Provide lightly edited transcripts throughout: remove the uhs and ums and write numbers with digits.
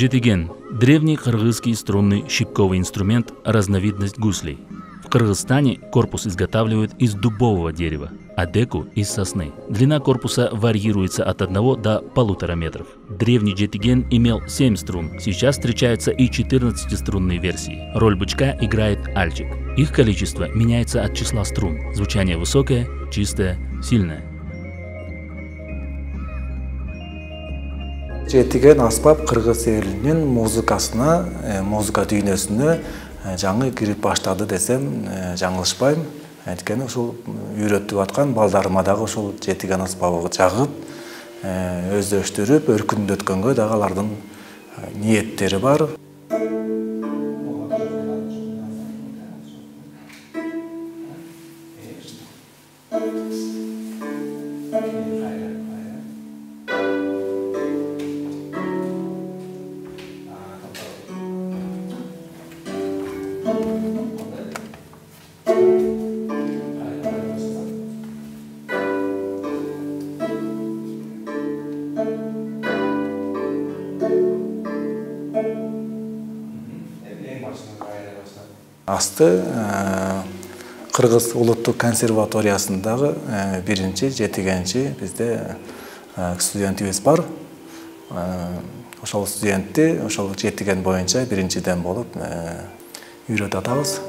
Жетиген – древний кыргызский струнный щипковый инструмент, разновидность гуслей. В Кыргызстане корпус изготавливают из дубового дерева, а деку – из сосны. Длина корпуса варьируется от 1 до 1,5 метров. Древний жетиген имел 7 струн, сейчас встречаются и 14-струнные версии. Роль бычка играет альчик. Их количество меняется от числа струн. Звучание высокое, чистое, сильное. Жетиген аспап кыргыз элинин музыка дүйнөсүнө жаңы кирип баштады десем жаңылышпайм. Анткени ушул үйрөтүп аткан балдарыма дагы ушул жетиген аспабы жагып, өздөштүрүп, өркүндөткөнгө дагы алардын ниеттери бар. Асты Кыргыз улуттук консерваториясындагы биринчи жетигенчи бизде студентибиз бар. Ошол студентти ошол жетиген боюнча биринчиден болуп үйрөтүп атабыз.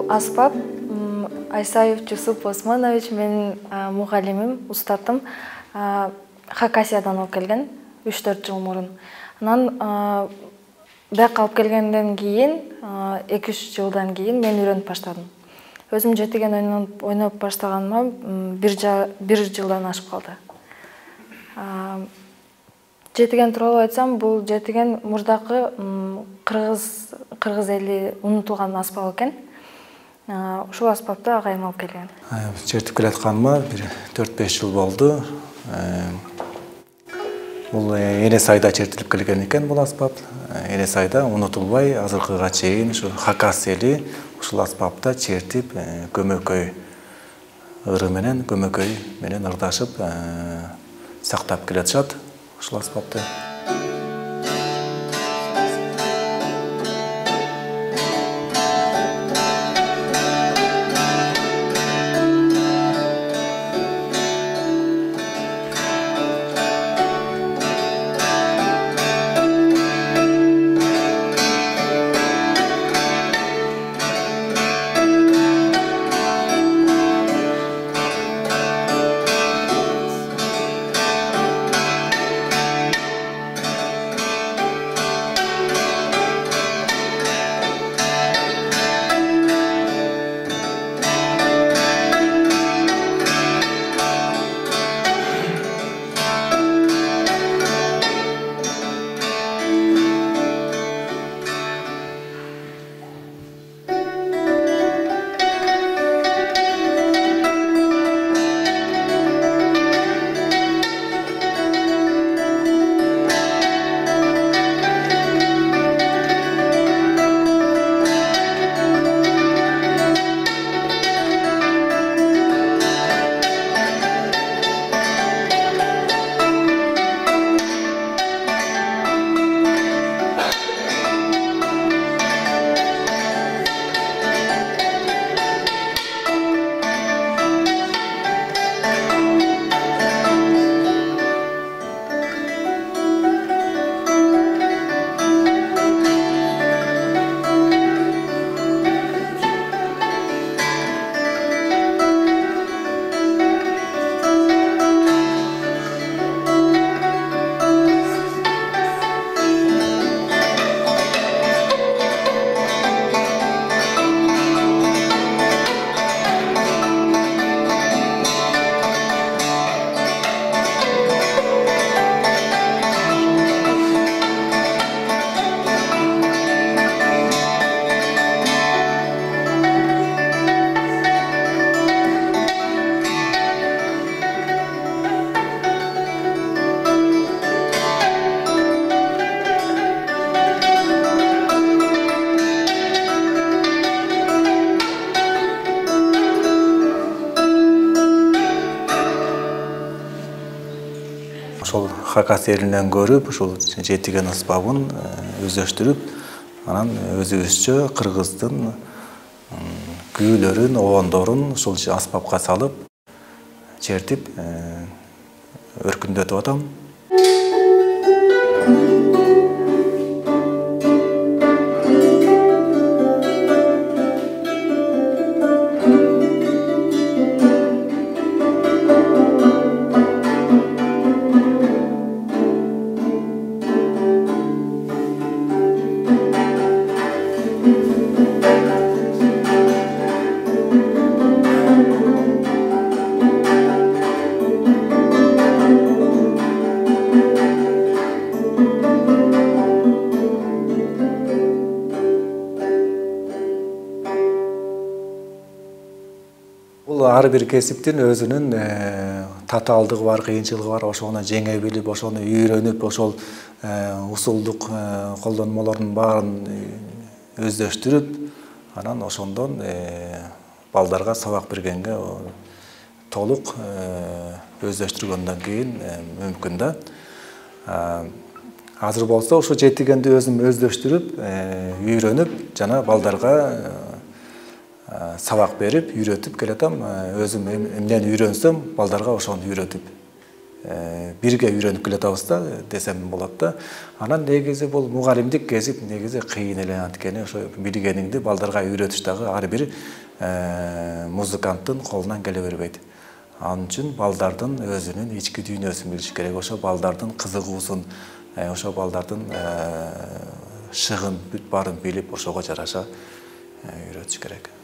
Аспап Айсаев Жусуп Османович менин мугалимим, устатым. Хакасиядан алып келген 3-4 жыл мурун. Анан бияка алып келгенден кийин 2-3 жылдан кийин мен үйрөнүп баштадым. Өзүм жетиген ойноп баштаганыма 1 жылдан ашып калды. Жетиген тууралуу айтсам, бул жетиген мурдакы кыргыз эли унутулган аспап экен. Ушул аспапты агайым алып келген. Чертип келатканыма 4-5 жыл болду. Бул Эне Сайда чертилип келген экен бул аспап. Эне Сайда унутулбай азыркыга чейин ушу Хакас эли ушул аспапта чертип, көмөкөй ыры менен, көмөкөй менен ырдашып сактап келатышат ушул аспапты. хакас элинен көрүп ушул жетиген аспабын өздөштүрүп, анан өзүбүзчө кыргыздын күүлөрүн, обондорун ушул аспапка салып, чертип өркүндөтүп атам. Ар бир кесиптин өзүнүн татаалдыгы бар, кыйынчылыгы бар. Ошону жеңе билип, ошону үйрөнүп, ошол усулдук колдонмолордун баарын өздөштүрүп, анан ошондон балдарга сабак бергенге толук өздөштүргөндөн кийин мүмкүн да. Азыр болсо ошо жетигенди өзүм өздөштүрүп, үйрөнүп, жана балдарга сабак берип, үйрөтүп келатам. Өзүм эмнени үйрөнсөм, балдарга ошону үйрөтүп, бирге үйрөнүп келатабыз да, десем болот да. Анан негизи бул мугалимдик кесип негизи кыйын эле, анткени ошо билгениңди балдарга үйрөтүш дагы ар бир музыканттын колунан келе бербейт. Анын үчүн балдардын өзүнүн ички дүйнөсүн билиш керек, ошо балдардын кызыгуусун, ошо балдардын шыгын бүт баарын билип, ошого жараша үйрөтүш керек.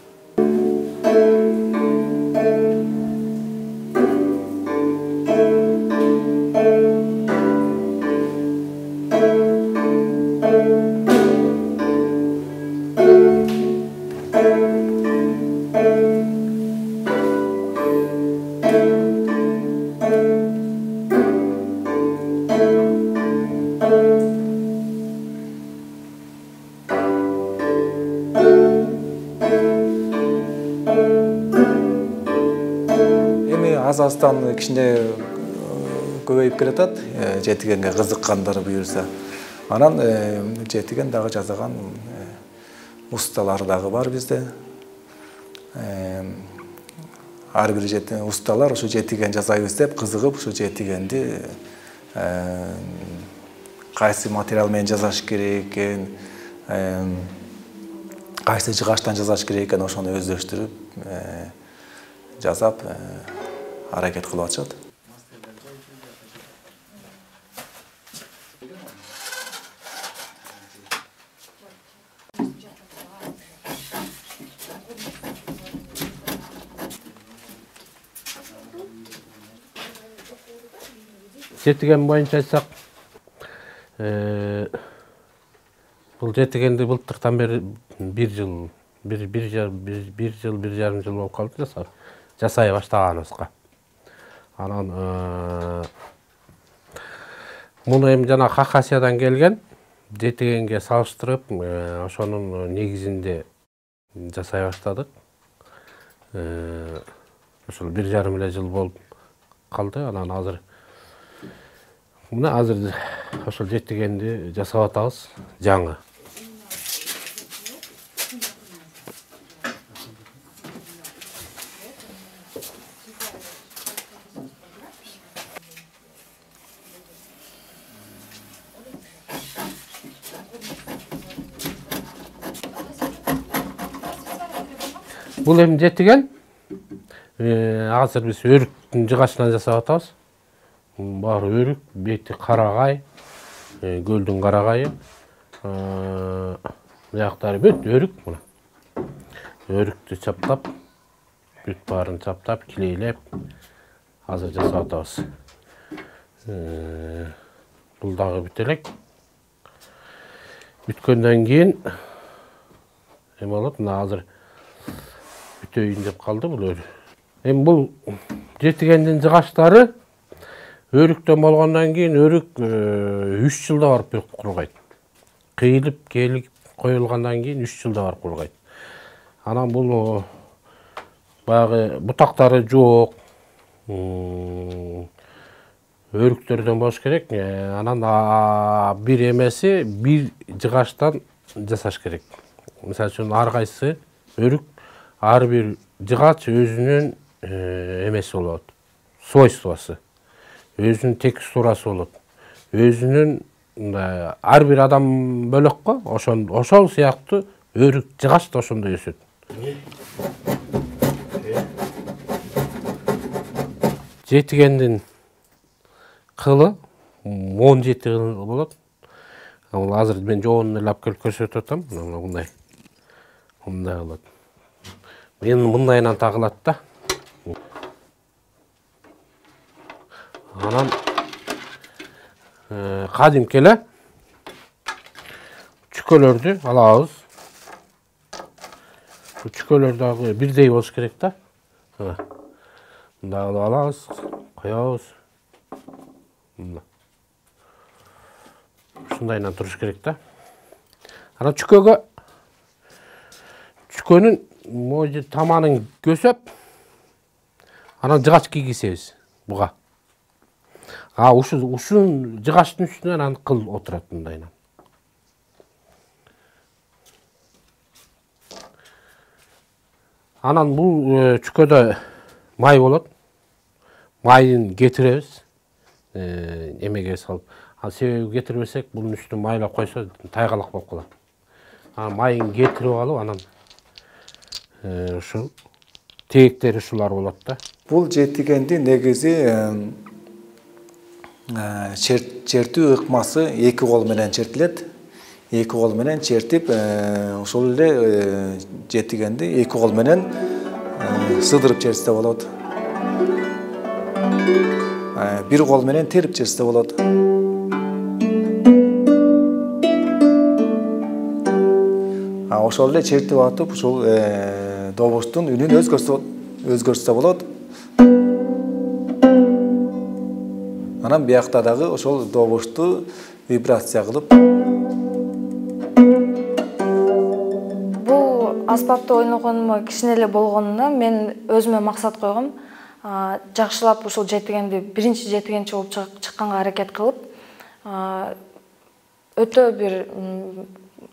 Аз-аздан кичине көбөйүп келатат, жетигенге кызыккандар буюрса. Анан жетиген дагы жасаган усталар дагы бар бизде. Ар бир усталар ушу жетиген жасайбыз деп кызыгып, ушу жетигенди кайсы материал менен жасаш керек экен, кайсы жыгачтан жасаш керек экен, ошону өздөштүрүп жасап аракет кылып атышат. Жетиген боюнча айтсак, бул жетигенди былтыртан бери бир жарым жыл болуп калды жасай баштаганыбызга. Анан муну эми жана Хакасиядан келген жетигенге салыштырып, ошонун негизинде жасай баштадык. Ошол 1,5 эле жыл болуп калды. Анан азыр ошол жетигенди жасап атабыз жаңы. Бул эми жетиген азыр биз өрүктүн жыгачынан жасап атабыз. Баары өрүк, бети карагай, көлдүн карагайы. Бияктары бүт өрүк мына. Өрүктү чаптап, бүт баарын чаптап, килейлеп азыр жасап атабыз. Бул дагы бүт элек. Бүткөндөн кийин эме болот, мына азыр бүтөйүн деп калды бул өрүк. Эми бул жетигендин жыгачтары өрүктөн болгондон кийин өрүк 3 жылда барып кургайт. Кыйылып, келип коюлгандан кийин 3 жылда барып кургайт. Анан бул багы бутактары жок, өрүктөрдөн болуш керек. Анан бир эмеси бир жыгачтан жасаш керек. Мисалы үчүн ар кайсы өрүк, ар бир жыгач өзүнүн эмеси болот, свойствосу, өзүнүн текстурасы болот, өзүнүн ар бир адам бөлөк го, ошол сыяктуу өрүк жыгач да ошондой өсөт. Жетигендин кылы 17 кыл болот. Ал азыр мен жоонун эле алып келип көрсөтүп атам. Мындай. Мындай болот. Мен мындайынан тагылат да. Анан кадимки эле чүкөлөрдү алабыз. Чүкөлөр дагы бирдей болуш керек да. Мындай алабыз, коебуз. Ушундайынан туруш керек да. Анан чүкөнүн моju таманын көсөп, анан жыгач кийгизебиз буга. Ушул жыгачтын үстүнө анан кыл отурат мындайынан. Анан бул чүкөдө май болот. Майын кетиребиз. Эмеге салып. Себеби кетирбесек, бунун үстүнө майлап койсо тайгалак болуп калат. Майын кетирип алып, анан ушул тээктери ушулар болот да. Бул жетигенди негизи чертүү ыкмасы 2 кол менен чертилет. 2 кол менен чертип, ошол эле жетигенди 2 кол менен сыдырып чертсе болот. 1 кол менен терип чертсе болот. Ошол эле чертип атып, ушул добуштун үнүн өзгөртсө болот. Анан биякта дагы ошол добушту вибрация кылып. Бул аспапты ойногоныма кичине эле болгонуна мен өзүмө максат койгом. Жакшылап ушул жетигенди биринчи жетигенчи болуп чыкканга аракет кылып, өтө бир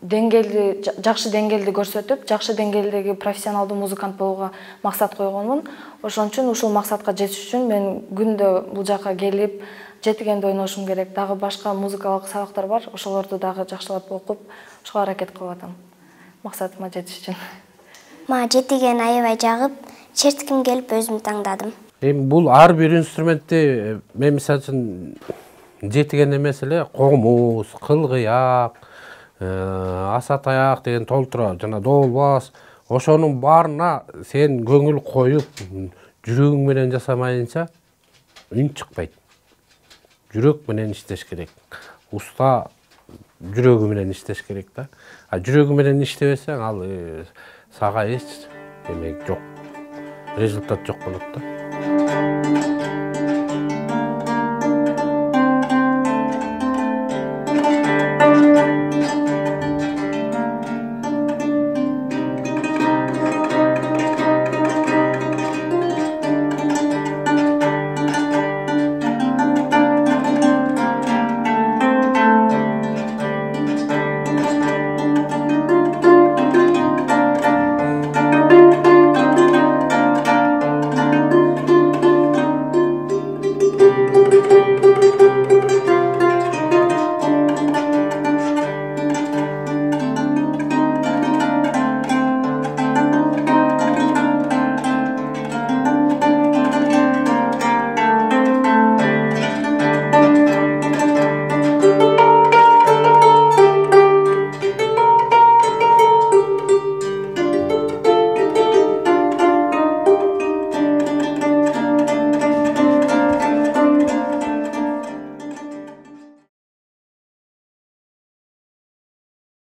жакшы деңгээлди көрсөтүп, жакшы деңгээлдеги профессионалдуу музыкант болууга максат койгонмун. Ошон үчүн ушул максатка жетиш үчүн мен күндө бул жака келип, жетигенди ойношум керек. Дагы башка музыкалык сабактар бар, ошолорду дагы жакшылап окуп, ошого аракет кылып атам. Максатыма жетиш үчүн. Мага жетиген аябай жагып, чертким келип өзүм таңдадым. Бул ар бир инструментти мен мисалы үчүн жетиген эмес эле комуз, кылгыяк, аса таяк деген толтура, жана долбас, ошонун баарына сен көңүл коюп, жүрөгүң менен жасамайынча үн чыкпайт. Жүрөк менен иштеш керек. Уста жүрөгү менен иштеш керек да. Жүрөгү менен иштебесең, ал сага эч демек жок. Результат жок болот да.